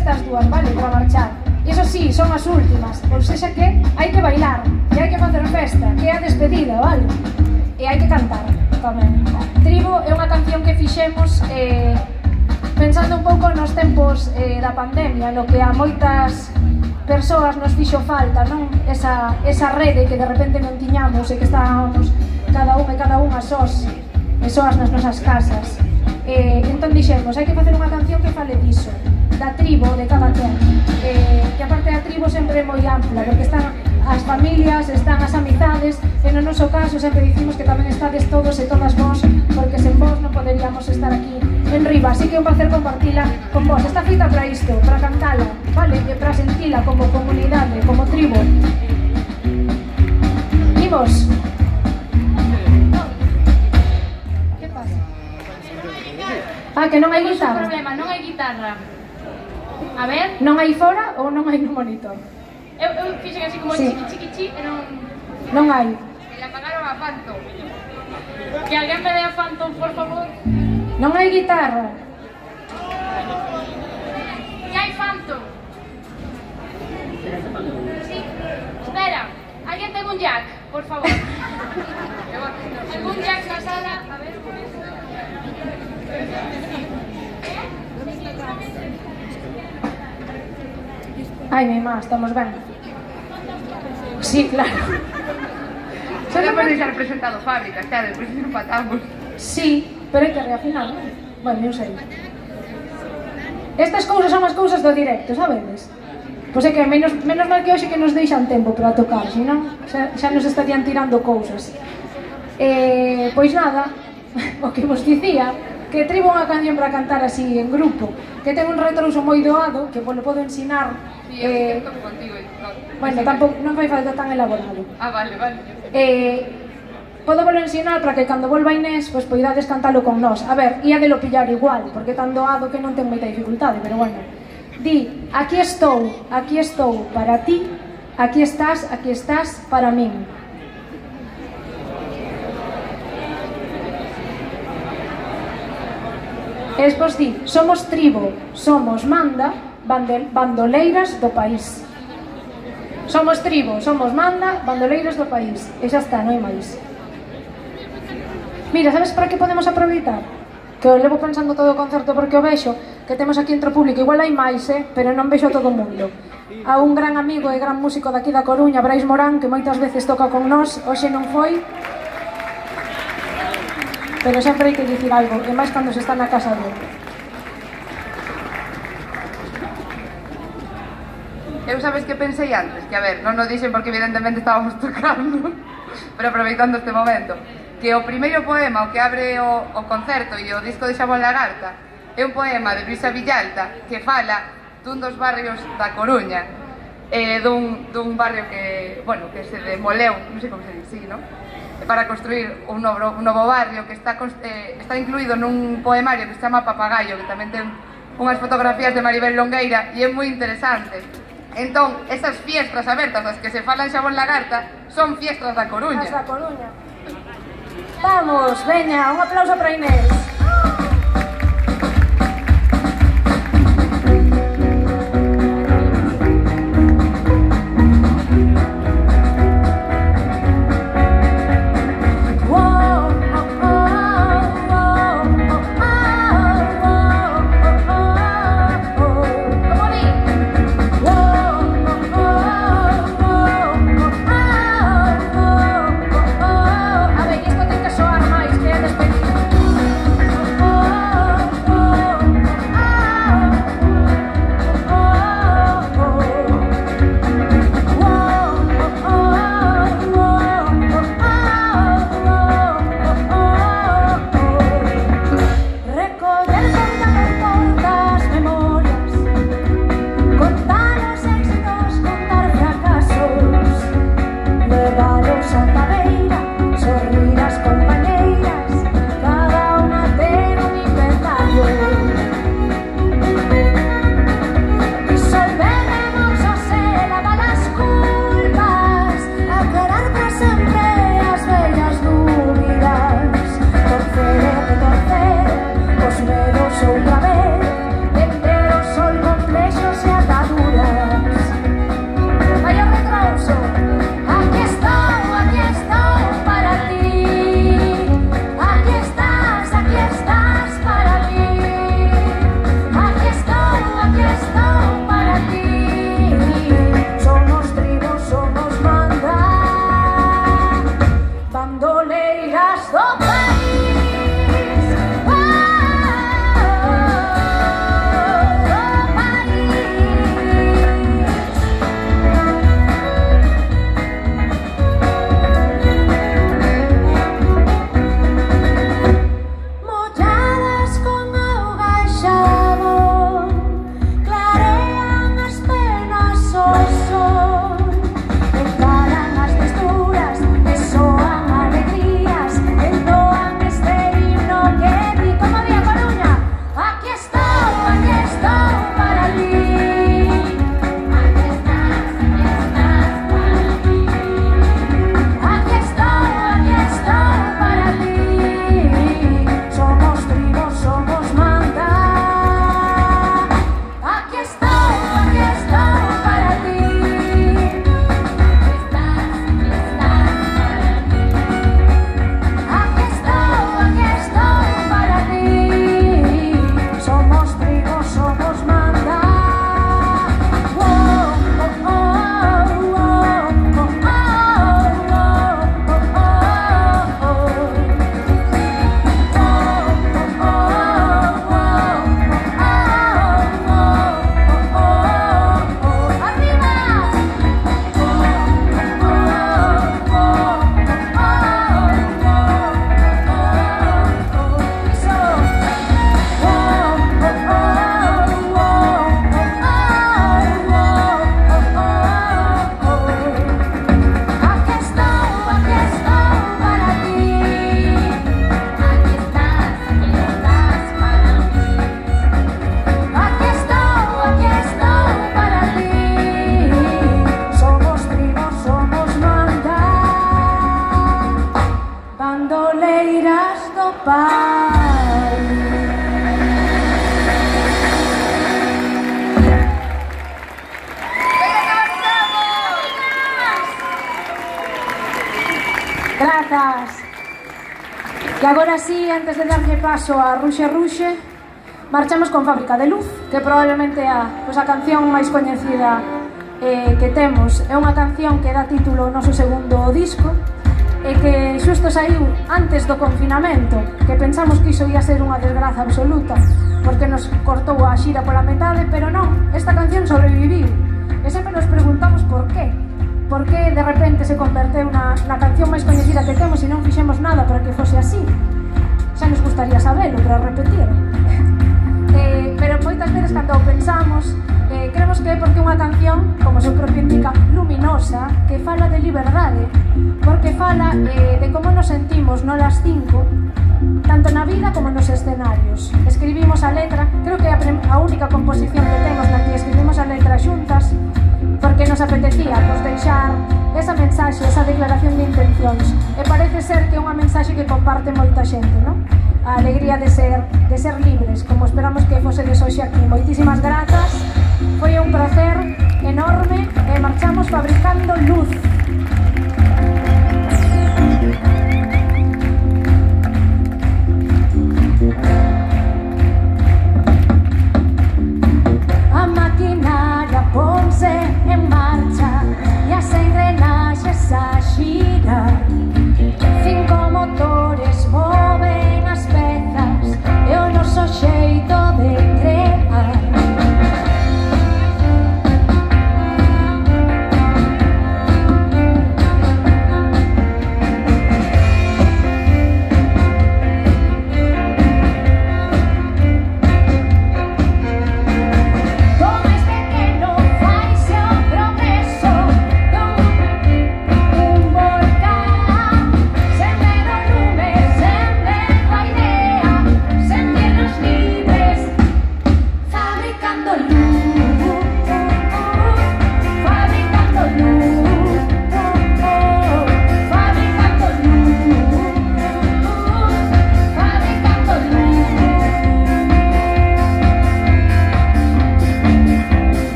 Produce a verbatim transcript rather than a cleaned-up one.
estas dúas, vale, para marchar. Iso sí, son as últimas, ou seja que hai que bailar, e hai que facer festa, que é a despedida, vale? E hai que cantar tamén. Tribo é unha canción que fixemos eh, pensando un pouco nos tempos eh, da pandemia, no que a moitas persoas nos fixo falta, non? Esa, esa rede que de repente non tiñamos e que estábamos cada un e cada unha sós e soas nas nosas casas. Eh, entón dixemos, hai que facer unha canción que fale diso, da tribo de cada quen, eh, que a parte da tribo sempre é moi ampla, porque están as familias, están as amizades, e no noso caso sempre dicimos que tamén estades todos e todas vós, porque sen vós non poderíamos estar aquí en riba, así que é un placer compartila con vós. Está feita para isto, para cantala, vale? E para sentila como comunidade, como tribo. Imos. Que pasa? Ah, que non hai guitarra. Non hai problema, non hai guitarra. A ver. Non hai fora ou non hai no monitor? Eu, eu fixen así como sí. chiqui chiqui chi e non... Non hai. E apagaron a Phantom. Que alguén me dé a Phantom, por favor. Non hai guitarra. Que hai Phantom? Sí. Espera, alguén ten un jack, por favor. Algún jack na sala, a ver. Ai, mi má, estamos ben. Sí, claro. Xa non podéis ser presentado fábrica, xa, depois non patamos. Sí, pero hai que reafinar, non? Bueno, eu sei. Estas cousas son as cousas do directo, sabedes? Pois é que menos, menos mal que hoxe que nos deixan tempo para tocar, senón xa, xa nos estarían tirando cousas. Eh, pois nada, o que vos dicía, que tribo unha canción para cantar así en grupo, que ten un retrouso moi doado, que vos lo podo ensinar. Sí, eu eh, toco contigo e todo. Bueno, tampouco, non fai falta tan elaborado. Ah, vale, vale. Eh, podo volo ensinar para que cando volva Inés, pois poidades cantalo con nós. A ver, ia de lo pillar igual, porque tan doado que non ten moita dificultade, pero bueno. Di, aquí estou, aquí estou para ti, aquí estás, aquí estás para min. E despois di, somos tribo, somos manda, bandoleiras do país. Somos tribo, somos manda, bandoleiras do país. E xa está, non hai máis. Mira, sabes para que podemos aproveitar? Que o levo pensando todo o concerto porque o vexo que temos aquí entre o público. Igual hai máis, eh? Pero non vexo a todo o mundo. A un gran amigo e gran músico daqui da Coruña, Brais Morán, que moitas veces toca con nós, hoxe non foi. Pero sempre hai que dicir algo, e máis cando se está na casa dele. Eu sabes que pensei antes? Que a ver, non o dixen porque evidentemente estábamos tocando, pero aproveitando este momento, que o primeiro poema, o que abre o, o concerto e o disco de Xabón Lagarta, é un poema de Brisa Villalta que fala dun dos barrios da Coruña, eh, dun, dun barrio que, bueno, que se demoleu, non sei como se dice, sí, non? Para construir un novo, un novo barrio que está, eh, está incluído nun poemario que se chama Papagayo, que tamén ten unhas fotografías de Maribel Longueira e é moi interesante. Entón, esas fiestras abertas das que se falan Xabón Lagarta son fiestras da Coruña. As da Coruña. Vamos, veña, un aplauso para Inés. E agora sí, antes de darlle paso a Ruxe Ruxe, marchamos con Fábrica de Luz, que probablemente é a, pues, a canción máis coñecida eh, que temos. É unha canción que dá título ao noso segundo disco e que xusto saiu antes do confinamento, que pensamos que iso ia ser unha desgraza absoluta porque nos cortou a xira pola metade, pero non, esta canción sobreviviu e sempre nos preguntamos por qué. Por que de repente se converteu na, na canción máis coñecida que temos e non fixemos nada para que fose así? Xa nos gustaría sabelo, para repetir. eh, pero moitas veces cando o pensamos, eh, creemos que é porque unha canción, como o seu propio indica, luminosa, que fala de liberdade, porque fala eh, de como nos sentimos no las cinco, tanto na vida como nos escenarios. Escribimos a letra, creo que é a, a única composición que temos na que escribimos a letra xuntas, porque nos apetecía pues, deixar esa mensaxe, esa declaración de intencións. E parece ser que é unha mensaxe que comparte moita xente, non? A alegría de ser, de ser libres, como esperamos que fosedes hoxe aquí. Moitísimas grazas, foi un placer enorme e marchamos fabricando luz.